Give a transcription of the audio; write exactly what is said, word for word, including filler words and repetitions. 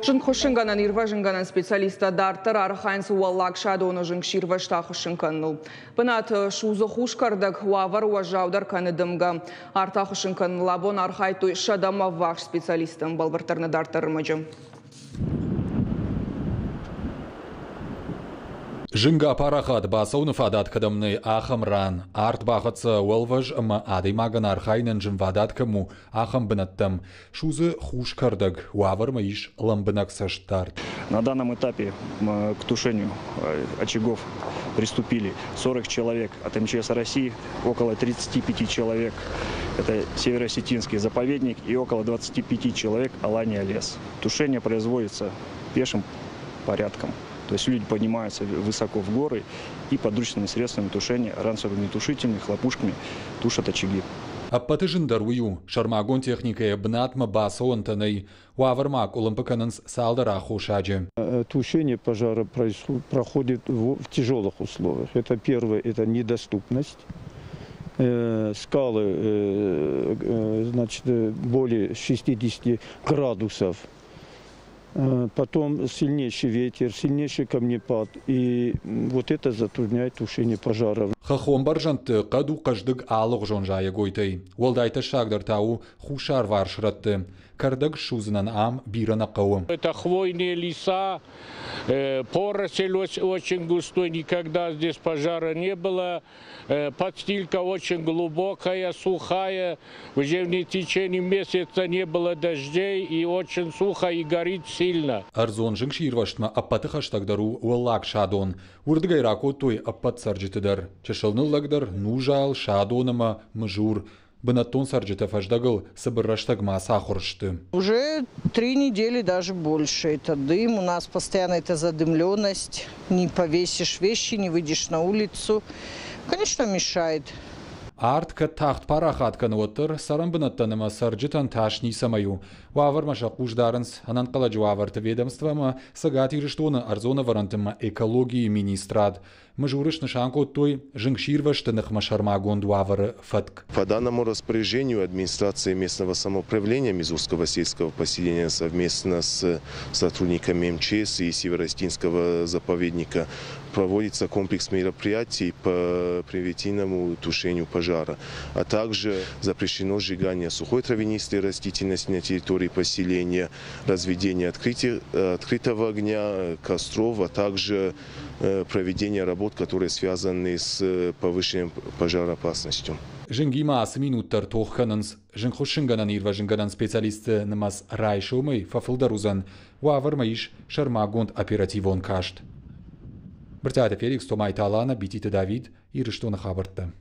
Зынгхуыссынгӕнӕн ирвӕзынгӕнӕн специалисттӕ дарддӕр архайынц Уӕллаг Садоны зынгсирвӕзт ахуыссын кӕныныл. Бынаты судзы хус кӕрдӕг, уавӕр уӕззаудӕр кӕны дымгӕ. Арт ахуыссын кӕныныл абон архайдтой сӕдӕмӕ ӕввахс специалисттӕ. Бӕлвырддӕр нӕ дарддӕр ӕрмӕджы. Зынг апарахат бацӕуыны фадат кӕдӕм нӕй, ахӕм ран. Арт бахӕццӕ уӕлвӕз ӕмӕ адӕймагӕн архайынӕн зынвадат кӕм у, ахӕм бынӕттӕм. Судзы хус кӕрдӕг, уавӕрмӕ ис лӕмбынӕг цӕстдард. На данном этапе к тушению очагов приступили сорок человек от эм че эс России, около тридцати пяти человек это Североосетинский заповедник и около двадцати пяти человек Алания лес. Тушение производится пешим порядком. То есть люди поднимаются высоко в горы и подручными средствами тушения, ранцевыми хлопушками тушат очаги. Ӕппӕты зындӕр уый у, сӕрмагонд техникӕйӕ бынатмӕ бацӕуӕнтӕ нӕй. Уавӕрмӕ къуылымпы кӕнынц цалдӕр аххосаджы. Тушение пожара проходит в тяжелых условиях. Это первое, это недоступность. Скалы, значит, более шестидесяти градусов. Потом сильнейший ветер, сильнейший камнепад. И вот это затрудняет тушение пожаров. Хӕххон бӕрзӕндты хъӕд у хъӕздыг алыгъуызон зайӕгойтӕй. Уӕлдай тӕссагдӕр та у хуссарварс рӕтты. Кӕрдӕг ссудзынӕн ам бирӕ нӕ хъӕуы. Это хвойные леса, поросль очень густой, никогда здесь пожара не было. Подстилка очень глубокая, сухая. Уже в течение месяца не было дождей и очень сухо и горит сильно. Ӕрдзон зынгсирвӕзтмӕ ӕппӕты хӕстӕгдӕр у Уӕллаг Садон. Уырдыгӕй ракодтой ӕппӕт цӕрджыты дӕр. Чысыл ныллӕгдӕр Нузал, Садон ӕмӕ Мызур. Бынӕттон цӕрджытӕ фӕздӕгыл цыбыр рӕстӕгмӕ сахуыр сты. Уже три недели, даже больше. Это дым, у нас постоянно эта задымленность. Не повесишь вещи, не выйдешь на улицу. Конечно, мешает. Арт кӕд тагъд парахат кӕны, уӕддӕр цӕрӕн бынӕттӕн ӕмӕ цӕрджытӕн тас ницӕмӕй у. Уавӕрмӕ сӕ хъус дарынц ӕнӕнхъӕлӕджы уавӕрты ведомство ӕмӕ Цӕгат Ирыстоны ӕрдзон ӕвӕрӕнты ӕмӕ экологийы министрад. Мызуры снысан кодтой зынгсирвӕзты ныхмӕ сӕрмагонд уавӕры фӕтк. По данному распоряжению администрации местного самоуправления Мизурского сельского поселения совместно с сотрудниками эм че эс и Североосетинского заповедника проводится комплекс мероприятий по превентивному тушению пожара, а также запрещено сжигание сухой травянистой растительности на территории поселения, разведение открытия, открытого огня, костров, а также проведение работ, которые связаны с повышенным пожароопасностью. Зынгимӕ ацы минут дӕр тох кӕнынц. Зынгхуыссынгӕнӕн ирвӕзынгӕнӕн специалистты нымӕц райсомӕй фӕфылдӕр уыдзӕн. Уавӕрмӕ ис сӕрмагонд оперативон каст. Брытъиаты Феликс, Томайты Алана, Бититы Давид, Ирыстоны хабӕрттӕ.